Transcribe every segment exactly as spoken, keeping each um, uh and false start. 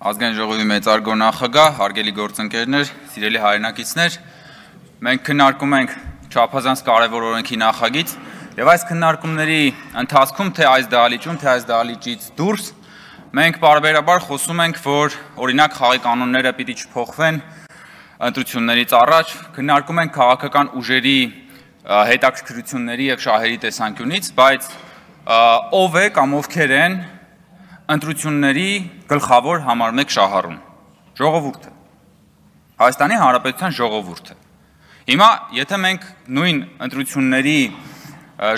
Ազգային ժողովի մեծարգո նախագահ, հարգելի գործընկերներ, սիրելի հայրենակիցներ, մենք քննարկում ենք չափազանց կարևոր օրենքի նախագիծ եւ այս քննարկումների ընթացքում թե այս դահլիճում, թե այս դահլիճից դուրս մենք բարբերաբար խոսում ենք, որ օրինակ խաղի կանոնները պիտի չփոխվեն ընտրություններից առաջ, քննարկում ենք քաղաքական ուժերի հետաքրքրությունների եւ շահերի տեսանկյունից, բայց ով է կամ ովքեր են ընտրությունների գլխավոր համար մեկ շահառուն, ժողովուրդը, Հայաստանի Հանրապետության ժողովուրդը։ Հիմա, եթե մենք նույն ընտրությունների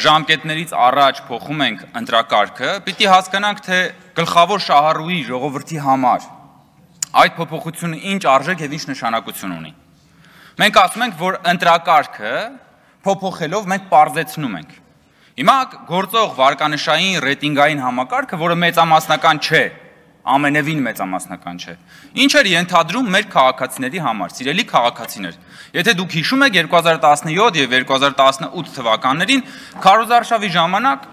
ժամկետներից առաջ փոխում ենք ընտրակարգը, պիտի հասկանանք, թե գլխավոր շահառուի ժողովրդի համար այդ փոփոխությունը ինչ արժեք եւ ինչ նշանակություն ունի։ Մենք ասում ենք, որ ընտրակարգը փոփոխելով մենք պարզեցնում ենք։ Հիմա գործող վարկանշային ռեյտինգային համակարգը, որը մեծամասնական չէ, ամենևին մեծամասնական չէ, ինչ էր ենթադրում մեր քաղաքացիների համար, սիրելի քաղաքացիներ։ Եթե դուք հիշում եք երկու հազար տասնյոթ եւ երկու հազար տասնութ թվականներին քարոզարշավի ժամանակ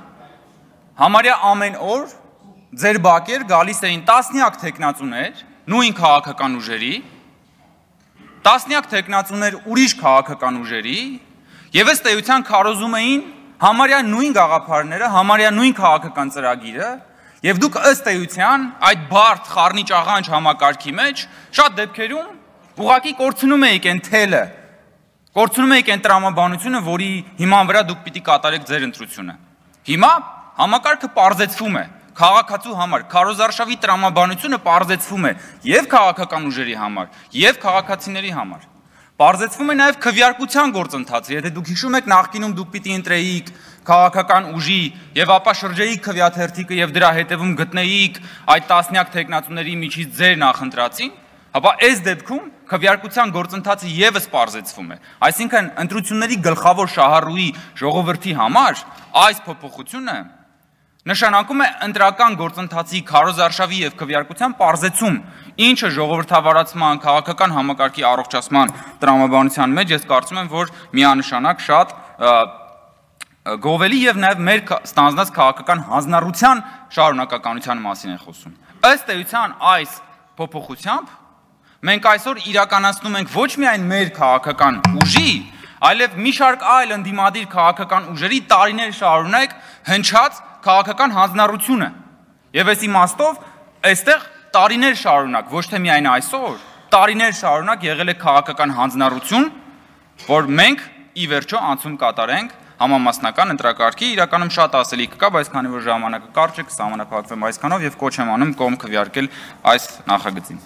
համարյա ամեն օր ձեր բակեր գալիս էին տասնյակ տեխնացուներ, նույն քաղաքական ուժերի, տասնյակ տեխնացուներ ուրիշ քաղաքական ուժերի, եւ ըստ էության քարոզում էին համարյա նույն գաղափարները, համարյա նույն քաղաքական ծրագիրը, եւ դուք ըստ էության այդ բարդ խառնիչ աղանջ համակարգի մեջ շատ դեպքերում ուղղակի կորցնում էիք այն թելը, կորցնում էիք այն տրամաբանությունը, որի հիման վրա դուք պիտի կատարեք ձեր ընտրությունը։ Հիմա համակարգը պարզեցվում է քաղաքացու համար, քարոզարշավի տրամաբանությունը պարզեցվում է եւ քաղաքական ուժերի համար, եւ քաղաքացիների համար։ Պարզեցվում է նաև քվեարկության գործընթացը, եթե դուք հիշում եք նախկինում դուք պիտի ընտրեիք քաղաքական ուժի եւ ապա շրջեիք քվեաթերթիկը եւ դրա հետևում գտնեիք այդ տասնյակ տեխնացուների միջից ձեր նախընտրածին, ապա այս դեպքում քվեարկության գործընթացը եւս պարզեցվում է։ Այսինքն ընտրությունների գլխավոր շահառուի ժողովրդի համար այս փոփոխությունը նշանակում է ընտրական գործընթացի քարոզարշավի եւ քվեարկության պարզեցում, ինչը ժողովրդավարացման, քաղաքական համակարգի առողջացման տրամաբանության մեջ ես կարծում եմ, որ միանշանակ շատ գովելի եւ նաեւ մեր ստանձնած քաղաքական հանձնառության շարունակականության մասին է խոսում։ Ըստ էության այս փոփոխությամբ մենք այսօր իրականացնում ենք ոչ միայն մեր քաղաքական ուժի, այլև մի շարք այլ ընդդիմադիր քաղաքական ուժերի տարիներ շարունակ հնչած քաղաքական հանձնառությունը։ Եվ այս իմաստով այստեղ տարիներ շարունակ, ոչ թե միայն այսօր, տարիներ շարունակ եղել է քաղաքական հանձնառություն, որ մենք ի վերջո անցում կատարենք համամասնական ընտրակարգի, իրականում շատ ասելիք կա, բայց քանի որ ժամանակը կարճ է, կսահմանափակվեմ այսքանով եւ կոչ եմ անում կողմ քվեարկել այս նախագծին։